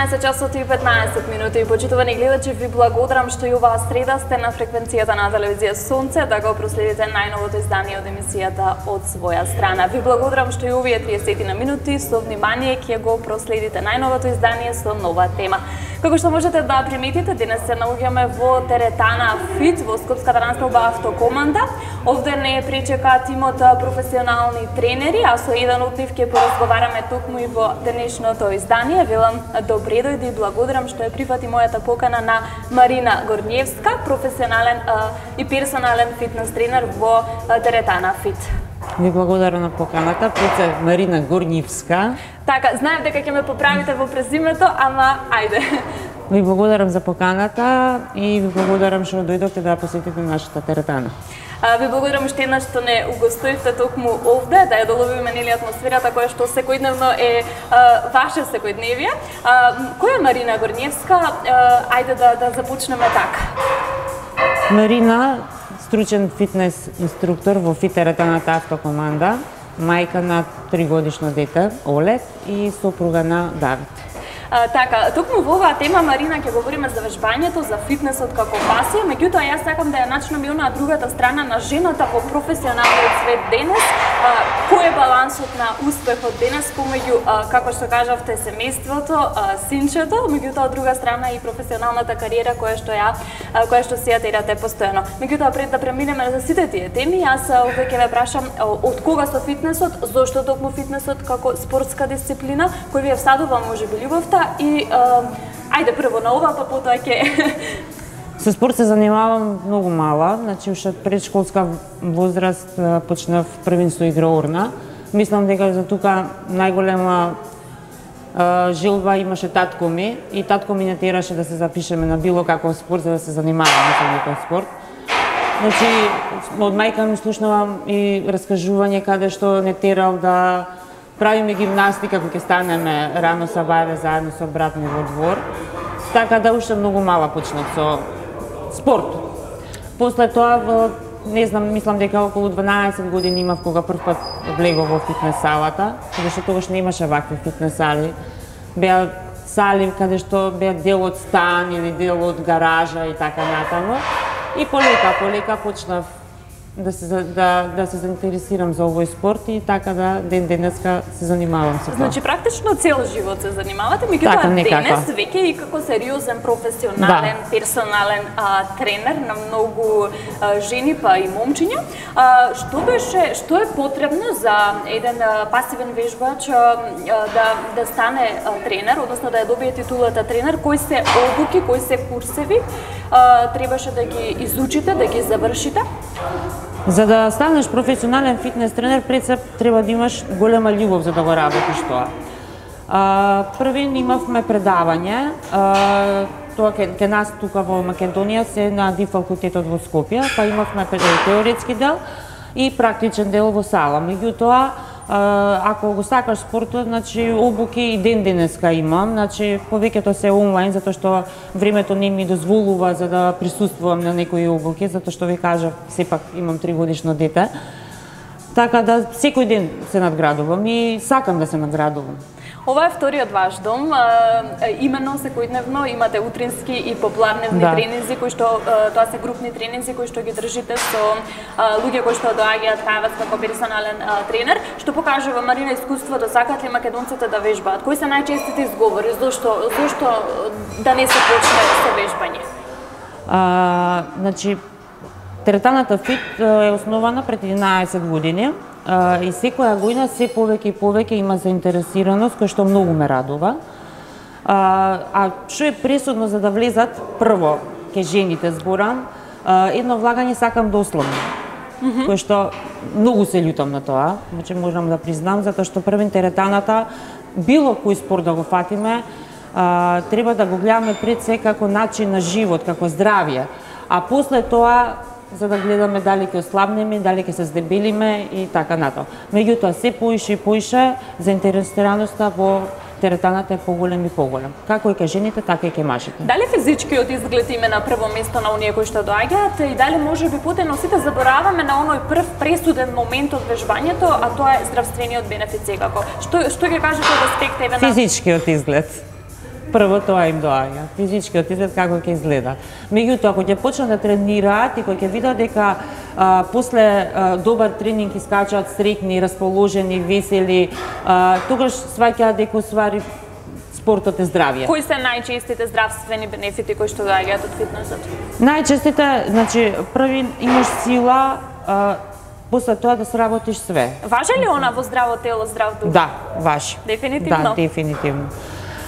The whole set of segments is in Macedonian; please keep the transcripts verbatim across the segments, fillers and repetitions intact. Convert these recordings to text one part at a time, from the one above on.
седумнаесет часот и петнаесет минути. Почитувани гледачи, ви благодарам што и оваа среда сте на фреквенцијата на телевизија Сонце да го проследите најновото издание од емисијата од своја страна. Ви благодарам што и овие триесет на минути со внимание ќе го проследите најновото издание со нова тема. Како што можете да приметите, денес се наоѓаме во теретана Фит во Скопската насталба Автокоманда. Овде не пречека тимот професионални тренери, а со еден од нив ќе поразговараме токму и во денешното издание. Велам добре дојде и благодарам што ја прифати мојата покана на Марина Горњевска, професионален а, и персонален фитнес тренер во а, теретана Фит. Ви благодарам на поканата, пред Марина Горњевска. Така, знаев дека ќе ме поправите во презимето, ама ајде. Ви благодарам за поканата и ви благодарам што дојдовте да посетите нашата теретана. Ви благодарам уште еднаш што не угостувате токму овде, да ја доловиме нели атмосферата која што секојдневно е а, ваше секојдневие. А, која е Марина Горњевска? А, ајде да, да започнеме така. Марина, стручен фитнес инструктор во Фит теретаната Автокоманда, мајка на тригодишно дете, Олег, и сопруга на Давид. А, така, токму во оваа тема, Марина, ќе говориме за вежбањето, за фитнесот како пасија, меѓутоа јас сакам да ја начнам и онаа другата страна на жената во професионалниот свет денес. А, кој е балансот на успехот денес помеѓу, а, како што кажавте, семејството, а, синчето, меѓутоа од друга страна и професионалната кариера која што ја а, која што си ја терате постојано. Меѓутоа пред да преминеме за сите тие теми, јас овде ќе ве прашам од кога со фитнесот, зошто токму фитнесот како спортска дисциплина, кој ви е всадува можеби љубовта и а, ајде прво на ова, па потоа ќе Со спорт се занимавам многу мала, значи уште од предшколска возраст почнав првенство игроорна. Мислам дека за тука најголема а, желба имаше татко ми и татко ми не тераше да се запишеме на било каков спорт за да се занимаваме со некој спорт. Значи од мајка ми слушнавам и раскажување каде што не терал да правиме гимнастика кога ќе станеме рано сабајле заедно со брат ми во двор. Така да уште многу мала почнав со спорт. После тоа, во, не знам, мислам дека околу дванаесет години имав кога прв пат влегов во фитнес салата, каде што тогаш не имаше вакви фитнес сали. Беа сали каде што беа дел од стан или дел од гаража и така натаму. И полека, полека почнав да се да да се заинтересирам за овој спорт и така да ден денеска се занимавам со тоа. Значи практично цел живот се занимавате, меѓутоа така, денес веќе и како сериозен професионален, да. персонален а, тренер на многу а, жени па и момчиња. А, што беше, што е потребно за еден а, пасивен вежбач а, да да стане а, тренер, односно да ја добие титулата тренер, кои се обуки, кои се курсеви а, требаше да ги изучите, да ги завршите? За да станеш професионален фитнес тренер, пред се треба да имаш голема љубов за да го работиш тоа. А, првин имавме предавање, а, тоа ке, ке нас тука во Македонија се на ди факултетот во Скопје, па имавме теоретски дел и практичен дел во сала. Меѓутоа, ако го сакаш спортот, значи обуки и ден денеска имам, значи повеќето се онлайн затоа што времето не ми дозволува за да присуствувам на некои обуки, затоа што ви кажав, сепак имам тригодишно дете. Така да секој ден се надградувам и сакам да се надградувам. Ова е вториот ваш дом, именно секојдневно имате утрински и попладневни да. тренинзи кои што тоа се групни тренинзи кои што ги држите со луѓе кои што доаѓаат кај вас како персонален тренер, што покажува Марина искуството, сакаат ли македонците да вежбаат? Кои се најчестите изговори? Зошто зошто да не се почне со вежбање? А, значи теретаната Фит е основана пред единаесет години. Uh, и секоја година се повеќе и повеќе има заинтересираност, кој што многу ме радува. Uh, а што е пресудно за да влезат, прво, ке жените зборам, uh, едно влагање сакам дословно, mm -hmm. кој што многу се љутам на тоа, значи можам да признам, затоа што првен теретаната, било кој спорт да го фатиме, uh, треба да го гледаме пред се како начин на живот, како здравје, а после тоа за да гледаме дали ќе ослабнеме, дали ќе се здебелиме и така натаму. Меѓутоа, се поише и поише, заинтересираноста во теретаната е поголем и поголем. Како и кај жените, така и кај мажите. Дали физичкиот изглед име на прво место на оние кои што доаѓаат и дали може би потено сите забораваме на оној прв пресуден момент од вежбањето, а тоа е здравствениот бенефит секако. Што што ќе кажете од аспект еве на физичкиот изглед? прво тоа им доаѓа, физичкиот изглед како ќе изгледа. Меѓутоа, ако ќе почнат да тренираат и кога ќе видат дека а, после а, добар тренинг искачаат среќни, расположени, весели, а, тогаш сваќаат дека уствари спортот е здравје. Кои се најчестите здравствени бенефити кои што доаѓаат од фитнесот? Најчестите, значи, први имаш сила, а, после тоа да сработиш све. Важи ли она во здраво тело, здрав дух? Да, важи. Дефинитивно. Да, дефинитивно.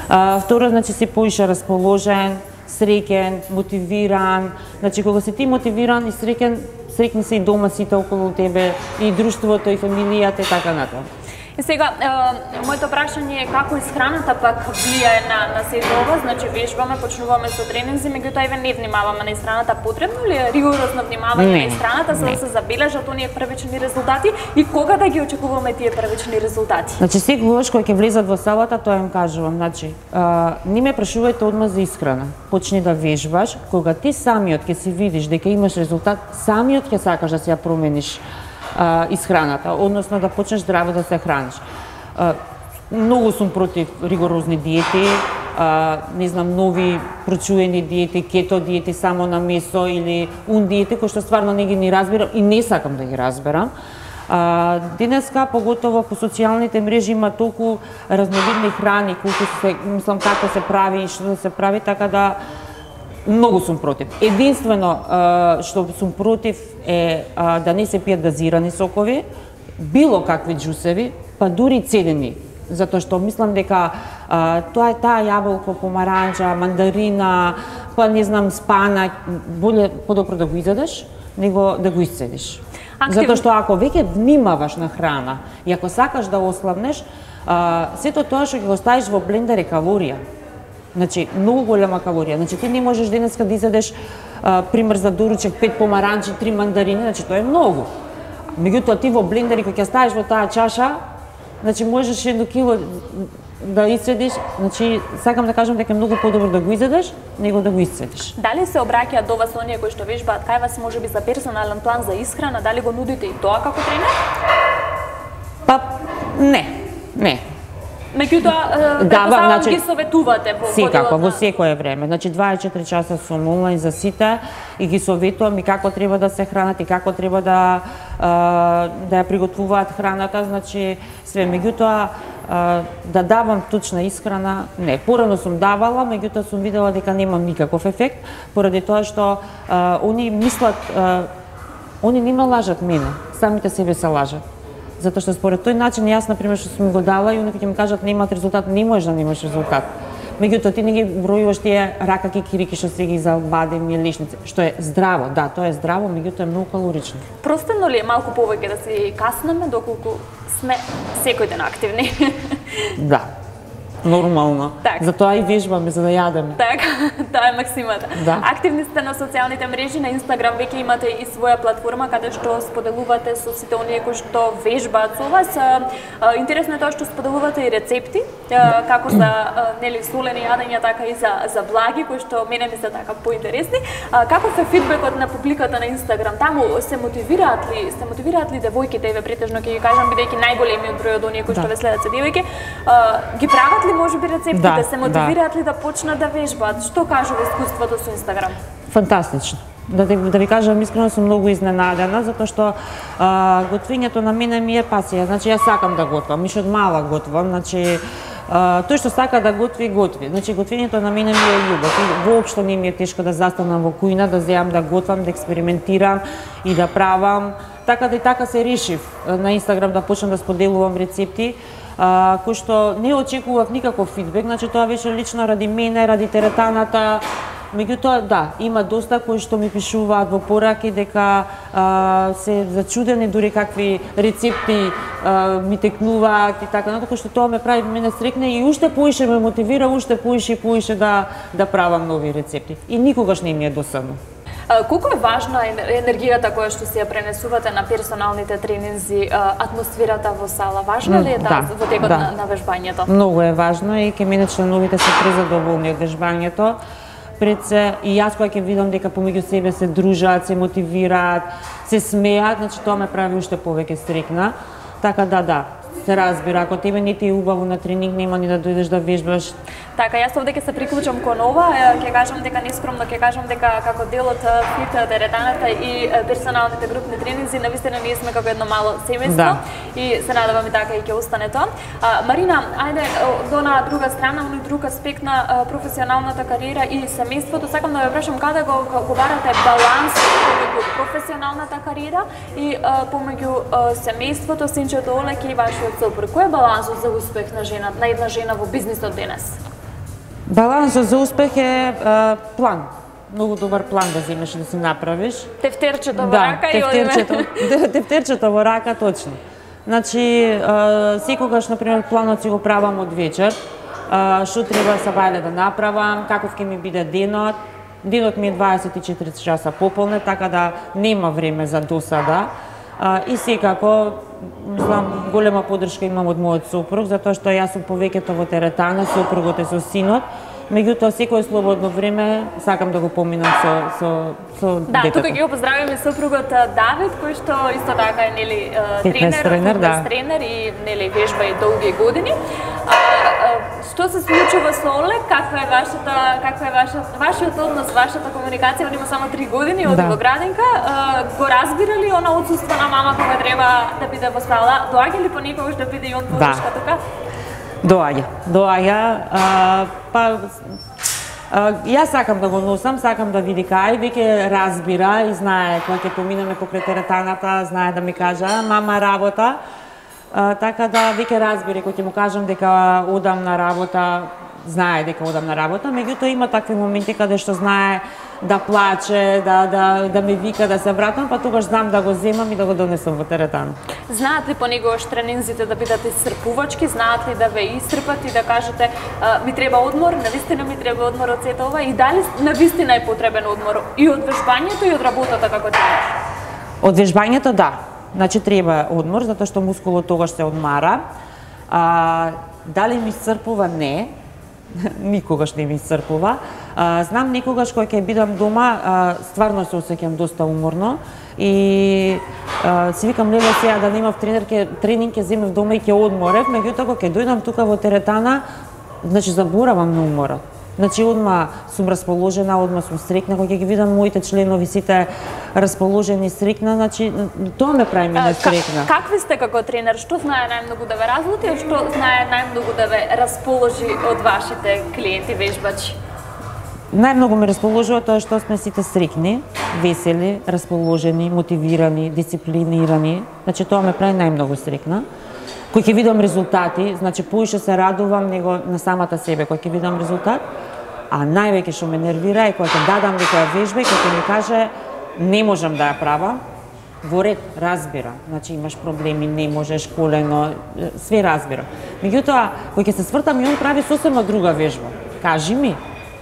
А, второ, значи, си поише расположен, среќен, мотивиран. Значи, кога си ти мотивиран и среќен, среќни се и дома сите околу тебе, и друштвото, и фамилијата, и така натаму. И сега, е, моето прашање е како исхраната пак влијае на, на сето ова, значи вежбаме, почнуваме со тренинзи, меѓутоа еве не внимаваме на исхраната, потребно ли е ригорозно внимавање на исхраната за да се забележат оние првични резултати и кога да ги очекуваме тие првични резултати? Значи секогаш кога ќе влезат во салата, тоа им кажувам, значи, а, не ме прашувајте одма за исхрана. Почни да вежбаш, кога ти самиот ќе си видиш дека имаш резултат, самиот ќе сакаш да се ја промениш Uh, исхраната, односно да почнеш здраво да се храниш. Uh, многу сум против ригорозни диети, uh, не знам, нови прочуени диети, кето диети само на месо или ун диети, кои што стварно не ги ни разбирам и не сакам да ги разберам. Uh, денеска, поготово по социјалните мрежи, има толку разновидни храни, кои се, мислам, како се прави и што да се прави, така да многу сум против. Единствено што сум против е да не се пијат газирани сокови, било какви џусеви, па дури цедени, затоа што мислам дека тоа е таа јаболко, помаранџа, мандарина, па не знам, спанак, боле подобро да го изедеш него да го исцедиш. Актив... Затоа што ако веќе внимаваш на храна и ако сакаш да ослабнеш, сето тоа што ќе го ставиш во блендер е калорија. Значи, многу голема калорија. Значи, ти не можеш денеска да изедеш, а, пример за доручек, пет помаранчи, три мандарини, значи, тоа е многу. Меѓутоа, ти во блендери, кога ќе ставиш во таа чаша, значи, можеш едно кило да исцедиш, значи, сакам да кажам дека е многу подобро да го изедеш, него да го исцедиш. Дали се обраќаат до вас оние кои што вежбаат кај вас, можеби за персонален план за исхрана, дали го нудите и тоа како тренер? Па, не, не. Меѓутоа, предпоставам, значи, ги советувате во секако, во секое време. Значи, дваесет и четири часа сум онлайн за сите и ги советувам и како треба да се хранат и како треба да да ја приготвуваат храната, значи све. Меѓутоа, да давам точна исхрана, не. Порано сум давала, меѓутоа сум видела дека немам никаков ефект, поради тоа што они мислат, они не ме лажат мене, самите себе се лажат. Затоа што според тој начин јас, например, што сум го дала и оние ќе ми кажат немаат резултат, не можеш да немаш резултат. Меѓутоа ти не ги бројуваш тие рака кикирики што се ги за бадеми и лишници, што е здраво, да, тоа е здраво, меѓутоа е многу калорично. Простено ли е малку повеќе да си каснеме доколку сме секој ден активни? Да. Нормално. Так. Затоа и вежбаме за да јадеме. Така, тоа е максимата. Да. Активни сте на социјалните мрежи, на Инстаграм веќе имате и своја платформа каде што споделувате со сите оние кои што вежбаат со вас. Интересно е тоа што споделувате и рецепти, како за нели солени јадења, така и за за благи кои што мене ми се така поинтересни. Каков е фидбекот на публиката на Инстаграм? Таму се мотивираат ли, се мотивираат ли девојките, еве претежно ќе ги кажам бидејќи најголемиот број од оние кои што ве следат се девојки, ги прават ли можеби рецептите, да, се мотивираат да. ли да почнат да вежбаат? Што кажува искуството со Инстаграм? Фантастично. Да, да ви кажам, искрено сум многу изненадена, затоа што а, готвењето на мене ми е пасија. Значи, јас сакам да готвам, иш од мала готвам, значи, а, тој што сака да готви, готви. Значи, готвењето на мене ми е љубов. Воопшто не ми е тешко да застанам во кујна, да земам да готвам, да експериментирам и да правам. Така да и така се решив на Инстаграм да почнам да споделувам рецепти, Uh, кој што не очекував никаков фидбек, значи тоа беше лично ради мене, ради теретаната. Меѓутоа, да, има доста кои што ми пишуваат во пораки дека uh, се зачудени дури какви рецепти uh, ми текнуваат и така натаму, што тоа ме прави мене среќна и уште поише ме мотивира, уште поише и поише да да правам нови рецепти. И никогаш не ми е досадно. Колку е важна енергијата која што си ја пренесувате на персоналните тренинзи, атмосферата во сала? Важна ли е да, во текот да. на, на вежбањето? Многу е важно и ке мене членовите се презадоволни од вежбањето. Пред се и јас кога ќе видам дека помеѓу себе се дружат, се мотивираат, се смеат, значи тоа ме прави уште повеќе среќна. Така да, да, се разбира, ако тебе не ти е убаво на тренинг, нема ни да дојдеш да вежбаш. Така, јас овде ќе се приклучам кон ова, ќе кажам дека нескромно, ќе кажам дека како дел од фит теретаната и персоналните групни тренинзи, навистина ние сме како едно мало семејство да. И се надевам и така и ќе остане тоа. А, Марина, ајде до на друга страна, оној друг аспект на професионалната кариера и семејството, сакам да ве прашам каде го го барате баланс помеѓу професионалната кариера и помеѓу семејството, синчето Олеке и вашиот сопруг. Кој е балансот за успех на жена, на една жена во бизнисот денес? Балансот за успех е а, план. Многу добар план да земеш и да си направиш. Тефтерчето во да, рака и одиме. Тефтерчето во рака, точно. Значи, а, секогаш, например, планот си го правам од вечер. А, што треба са бајле да направам, каков ќе ми биде денот. Денот ми е дваесет и четири часа пополне, така да нема време за досада. А, и секако, мислам, голема подршка имам од мојот сопруг, затоа што јас сум повеќето во теретана, сопругот е со синот. Меѓутоа, секое слободно време сакам да го поминам со, со, со да, детето. тука ги го поздравиме сопругот Давид, кој што исто така е нели тренер, тренер, да. тренер и нели вежба и долги години. А, а, што се случува со Олег? Каква е вашата, каква е вашата, вашиот однос, вашата комуникација? Он има само три години, оди да. во градинка. А, го разбира ли она отсуство на мама кога треба да биде во сала? Доаѓа ли понекогаш да биде и он подршка да. тука? Доаѓа, доаѓа, а, па а, јас сакам да го носам, сакам да види кај, веќе разбира и знае кога ќе поминеме покрај теретаната, знае да ми кажа мама работа, а, така да веќе разбира кога ќе му кажам дека одам на работа, знае дека одам на работа, меѓутоа има такви моменти каде што знае да плаче, да, да, да ме вика да се вратам, па тогаш знам да го земам и да го донесам во теретан. Знаат ли понекогаш тренинзите да бидат исцрпувачки, знаат ли да ве исцрпат и да кажете ми треба одмор, навистина ми треба одмор од сето ова и дали навистина е потребен одмор и од вежбањето и од работата како тренер? Од вежбањето да, значи треба одмор затоа што мускулот тогаш се одмара. А, дали ми исцрпува? Не. Никогаш не ми исцрпува. А, знам некогаш кога ќе бидам дома, а, стварно се осеќам доста уморно и а, си викам леле сега да немав тренер, ке, тренинг ќе земев дома и ќе одморев, меѓутоа кога ќе дојдам тука во теретана, значи заборавам на уморот. Значи одма сум расположена, одма сум срекна, кога ќе ги видам моите членови сите расположени и срекна, значи тоа ме прави мене срекна. Какви сте како тренер? Што знае најмногу да ве разлути, а што знае најмногу да ве расположи од вашите клиенти вежбачи? Најмногу ме расположува тоа што сме сите срекни, весели, расположени, мотивирани, дисциплинирани. Значи тоа ме прави најмногу срекна. Кој ќе видам резултати, значи поише се радувам него на самата себе кој ќе видам резултат, а највеќе што ме нервира е кога ќе дадам некоја вежба и кога ќе ми каже не можам да ја правам, во ред разбира, значи имаш проблеми, не можеш колено, све разбира. Меѓутоа, кога ќе се свртам и он прави сосема друга вежба, кажи ми,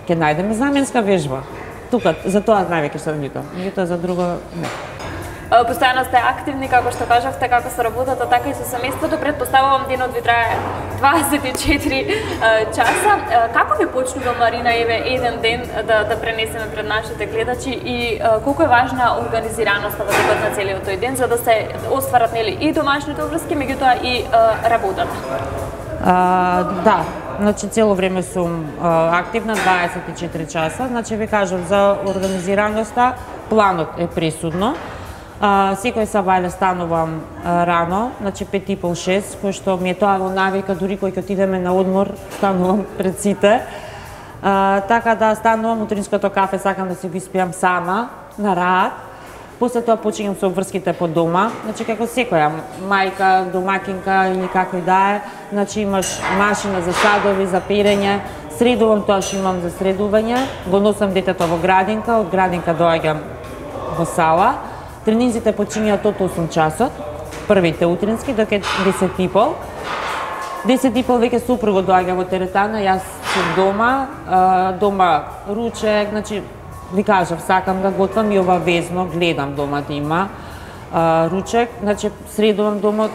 ќе најдеме заменска вежба. Тука за тоа највеќе што викам, меѓутоа за друго не. Постојано сте активни, како што кажавте, како со работата, така и со семејството. Предпоставувам денот ви трае дваесет и четири часа. Како ви почнува, Марина, еве еден ден да, да пренесеме пред нашите гледачи и колку е важна организираноста во текот на целиот тој ден за да се остварат нели и домашните обврски, меѓутоа и работата? А, да, значи цело време сум а, активна дваесет и четири часа. Значи ви кажам за организираноста, планот е пресудно. Uh, секој сабајле станувам uh, рано, значи пет и пол шест, кој што ми е тоа во навика, дури кој ќе отидеме на одмор, станувам пред сите. Uh, така да станувам, утринското кафе сакам да си го испијам сама, на раат. После тоа почињам со обврските по дома, значи како секоја мајка, домакинка или како и да е, значи имаш машина за садови, за перење, средувам тоа што имам за средување, го носам детето во градинка, од градинка доаѓам во сала. Тренинзите почињаат од осум часот, првите утрински, доке десет и пол. десет и пол веќе супругот доаѓа во теретана, јас сум дома, дома ручек, значи, ви кажав, сакам да готвам и обавезно, гледам дома да има ручек, значи, средувам дома,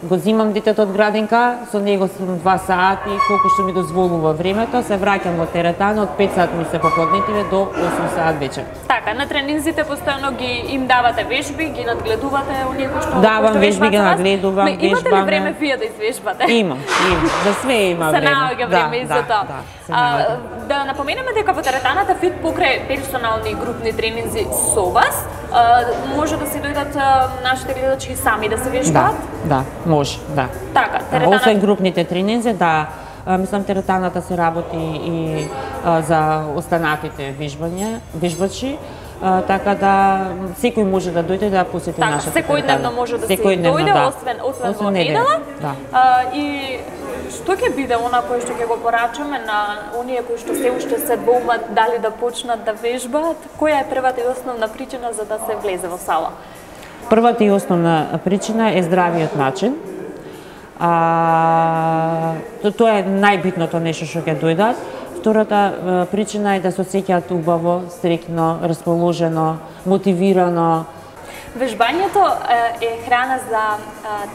го земам детето од градинка, со него сум два сати, колку што ми дозволува времето, се враќам во теретана, од пет сати ми се попладнетиве до осум сати вечер. Така, на тренинзите постојано ги им давате вежби, ги надгледувате оние кои што Давам вежби, ги надгледувам, вежбаме. Имате ли време вие да извежбате? Имам, имам, за све има време. Се наоѓа време и за тоа. Да, а, да напоменеме дека во теретаната фит покрај персонални и групни тренинзи со вас, а, може да се дојдат а, нашите гледачи сами да се вежбаат? Да, да, може, да. Така, теретаната... Освен групните тренинзи, да, мислам теретаната се работи и а, за останатите вежбања, вежбачи, а, така да секој може да дојде да посети така, нашата теретана. Секојдневно може да се дојде, да. освен, освен, освен во недела. Да. А, и што ќе биде она кој што ќе го порачаме на оние кои што се уште се двоумат дали да почнат да вежбаат? Која е првата и основна причина за да се влезе во сала? Првата и основна причина е здравиот начин. А, то, тоа е најбитното нешто што ќе дојдат. Втората причина е да се осеќаат убаво, стрекно, расположено, мотивирано. Вежбањето е храна за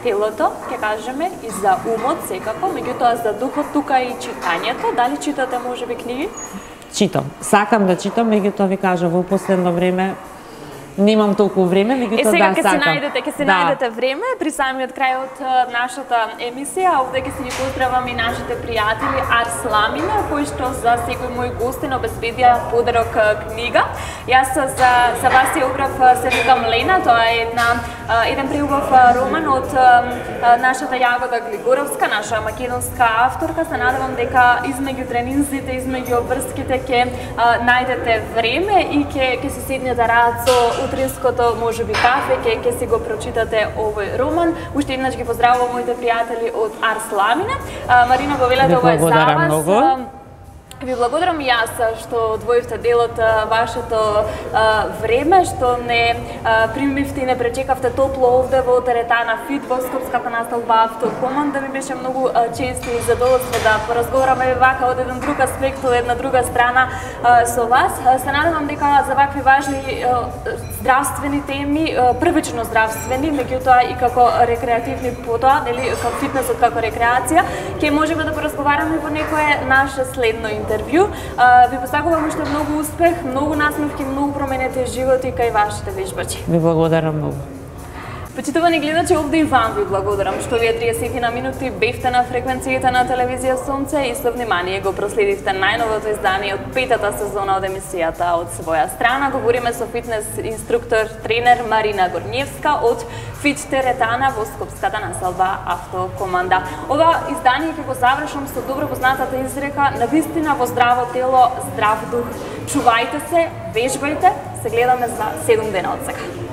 телото, ќе кажеме, и за умот секако, меѓутоа за духот тука и читањето. Дали читате можеби книги? Читам. Сакам да читам, меѓутоа ви кажа во последно време немам толку време, меѓутоа да сакам. Е, сега ќе се најдете, ќе се да. најдете време при самиот крај од нашата емисија. Овде ќе се ги поздравам и нашите пријатели Арс Ламина, кои што за секој мој гостин обезбедија подарок книга. Јас за за вас ја убрав се викам Лена, тоа е една еден преубав роман од нашата Јагода Глигоровска, наша македонска авторка. Се надевам дека измеѓу тренинзите, измеѓу обврските ќе најдете време и ќе ќе се седнете рад со утринското можеби кафе, ќе ќе си го прочитате овој роман. Уште еднаш ги поздравувам моите пријатели од Арс Ламина. Марина го велете, ова е за вас. Многу. Ви благодарам и јас што одвоивте дел од вашето а, време, што не а, примивте и не пречекавте топло овде во теретана Фит во Скопската насталба Автокоманда. Ми беше многу а, често и задоволство да поразговараме вака од еден друг аспект, од една друга страна а, со вас. А, се надевам дека за вакви важни а, здравствени теми, а, првично здравствени, меѓутоа и како рекреативни потоа, нели, како фитнесот како рекреација, ќе можеме да поразговараме во некое наше следно интервју. Ви посакувам уште многу успех, многу насмевки, многу променети животи кај вашите вежбачи. Ви благодарам многу. Почитувани гледачи, овде и вам ви благодарам што вие триесет на минути бевте на фреквенцијата на телевизија Сонце и со внимание го проследивте најновото издание од петата сезона од емисијата Од своја страна. Говориме со фитнес инструктор, тренер Марина Горњевска од Фит теретана во Скопската населба Автокоманда. Ова издание ќе го завршам со добро познатата изрека: навистина во здраво тело, здрав дух. Чувајте се, вежбајте, се гледаме за седум дена од сега.